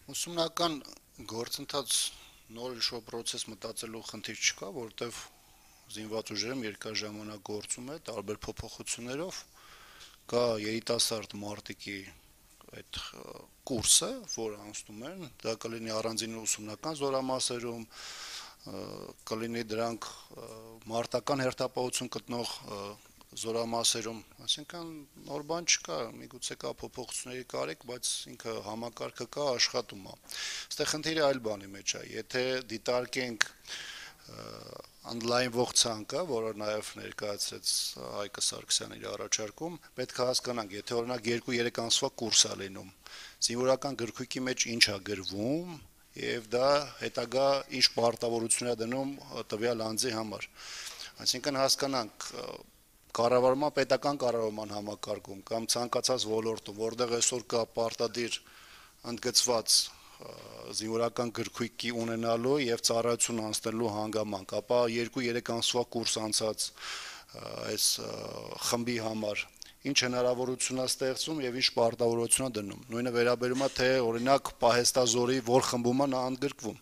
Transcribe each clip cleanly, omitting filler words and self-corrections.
Ուսումնական գործընթաց նոր ինչ-որ process մտածելու խնդիր չկա, որովհետև զինված ուժերում երկար ժամանակ գործում է տարբեր փոփոխություններով, կա երիտասարդ մարտիկի այդ կուրսը, որը անցնում են, դա կլինի առանձին ուսումնական զորամասերում, կլինի դրանք մարտական հերթապահություն գտնող զորամասերում, այսինքն նոր բան չկա, միգուցե կա փոփոխությունների կարիք, բայց ինքը համակարգը կա, աշխատում է։ Այստեղ խնդիրը այլ բանի մեջ է, եթե դիտարկենք ընդլայնվող ցանկը, որը նաև ներկայացրեց Հայկը Սարգսյանն իր առաջարկում, պետք է հասկանանք, եթե օրինակ 2-3 ամսվա կուրս է լինում, զինվորական գրքույկի մեջ ինչ է գրվում, եւ դա հետագա ինչ պարտավորություն է դնում տվյալ անձի համար։ Այսինքն հասկանանք պետական կառավարման համակարգում կամ ցանկացած ոլորտում, որտեղ այսօր կա պարտադիր ընդգծված զինվորական գրքույկի ունենալու եւ ծառայություն անցնելու հանգամանք, ապա 2-3 ամսվա կուրս անցած այս խմբի համար ինչ հնարավորություն է ստեղծում եւ ինչ պարտավորություն է դնում։ Նույնը վերաբերում է թե օրինակ պահեստազորի որ խմբում է նա ընդգրկվում,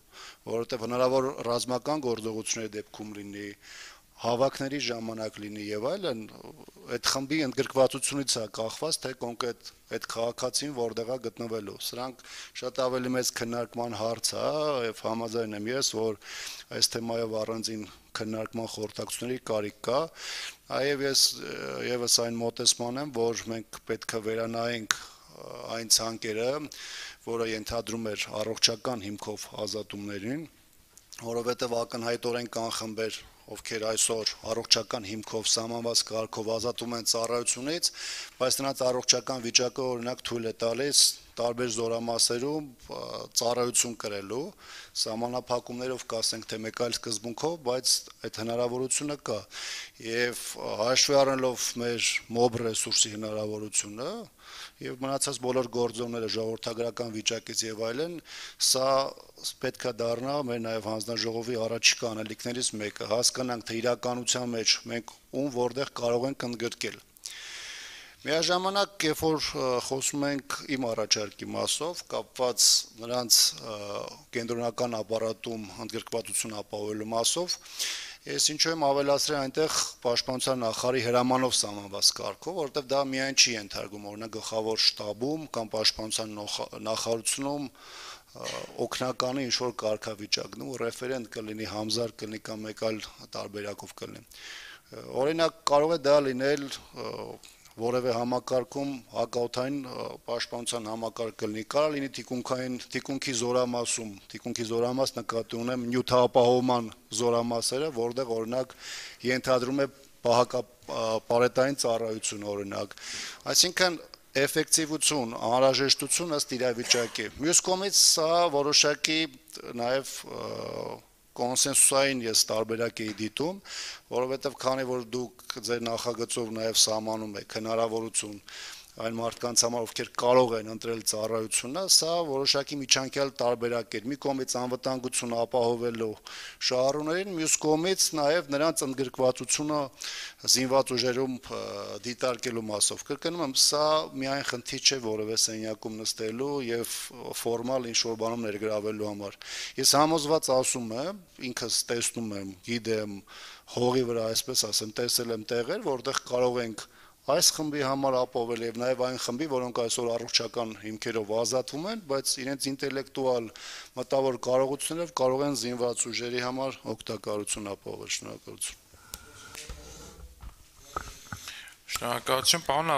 որովհետեւ հնարավոր ռազմական գործողությունների դեպքում լինի, հավաքների ժամանակ լինի եւ այլն, այդ խմբի ընդգրկվածությունից է կախված, թե կոնկրետ այդ քաղաքացին որտեղ է գտնվելու։ Սրանք շատ ավելի մեծ քննարկման հարց է եւ համաձայն եմ ես, որ այս թեմայով առանձին քննարկման խորհրդակցությունների կարիք կա, այև ես եւս այն մոտեցման եմ, որ մենք պետք է վերանայենք այն ցանկերը, որը ենթադրում էր առողջական հիմքով ազատումներին, որովհետեւ ակնհայտորեն կան խմբեր, ովքեր այսօր առողջական հիմքով սահմանված կարգով ազատում են ծառայությունից, բայց նրանց առողջական վիճակը օրինակ թույլ է տալիս տարբեր զորամասերում ծառայություն կրելու, սահմանափակումներով կասենք թե մեկ այլ սկզբունքով, բայց այդ հնարավորությունը կա եւ հաշվի առնելով մեր մոբ ռեսուրսի հնարավորությունը եւ մնացած բոլոր գործոնները ժողովրդագրական վիճակից եւ այլն, սա պետք է դառնա մեր նաեւ հանձնաժողովի առաջիկա անելիքներից մեկը, հասկանանք թե իրականության մեջ մենք ում որտեղ կարող ենք ընդգրկել։ Միաժամանակ, երբ որ խոսում ենք իմ առաջարկի մասով, կապված նրանց կենտրոնական ապարատում ընդգրկվածություն ապահովելու մասով, ես ինչու եմ ավելացրել այնտեղ պաշտպանության նախարարի հրամանով սահմանված կարգով, որովհետև դա միայն չի ենթարկվում, օրինակ գլխավոր շտաբում կամ պաշտպանության նախարարությունում օգնականի ինչ-որ կարգավիճակն ու ռեֆերենտ կլինի, համզար կլինի կամ մեկ այլ տարբերակով կլինի։ Օրինակ կարող է դա լինել որևէ համակարգում հակաօդային պաշտպանության համակարգ կլինի, կարող լինի թիկունքի զորամասում, թիկունքի զորամաս նկատի ունեմ նյութապահովման զորամասերը, որտեղ օրինակ ենթադրում է պահակապարետային ծառայություն օրինակ, այսինքն էֆեկտիվություն, անհրաժեշտություն ըստ իրավիճակի։ Մյուս կողմից սա որոշակի նաև կոնսենսուսային ես տարբերակ էի դիտում, որովհետև քանի որ դուք ձեր նախագծով նաև սահմանում եք հնարավորություն այն մարդկանց համար, ովքեր կարող են ընտրել ծառայությունը, սա որոշակի միջանկյալ տարբերակ էր։ Մի կողմից անվտանգություն ապահովելու շահառուներին, մյուս կողմից նաև նրանց ընդգրկվածությունը զինված ուժերում դիտարկելու մասով։ Կրկնում եմ, սա միայն խնդիր չէ որևէ սենյակում նստելու եւ ֆորմալ ինչ-որ բանում ներգրավելու համար։ Ես համոզված ասում եմ, ինքս տեսնում եմ, գիտեմ, հողի վրա, այսպես ասեմ, տեսել եմ տեղեր, որտեղ կարող ենք այս խմբի համար ապահովել եւ նաեւ այն խմբի, որոնք այսօր առողջական հիմքերով ազատվում են, բայց իրենց ինտելեկտուալ մտավոր կարողություններով կարող են զինված ուժերի համար օգտակարություն ապահովել։ Շնորհակալություն։ Շնորհակալություն, պարոն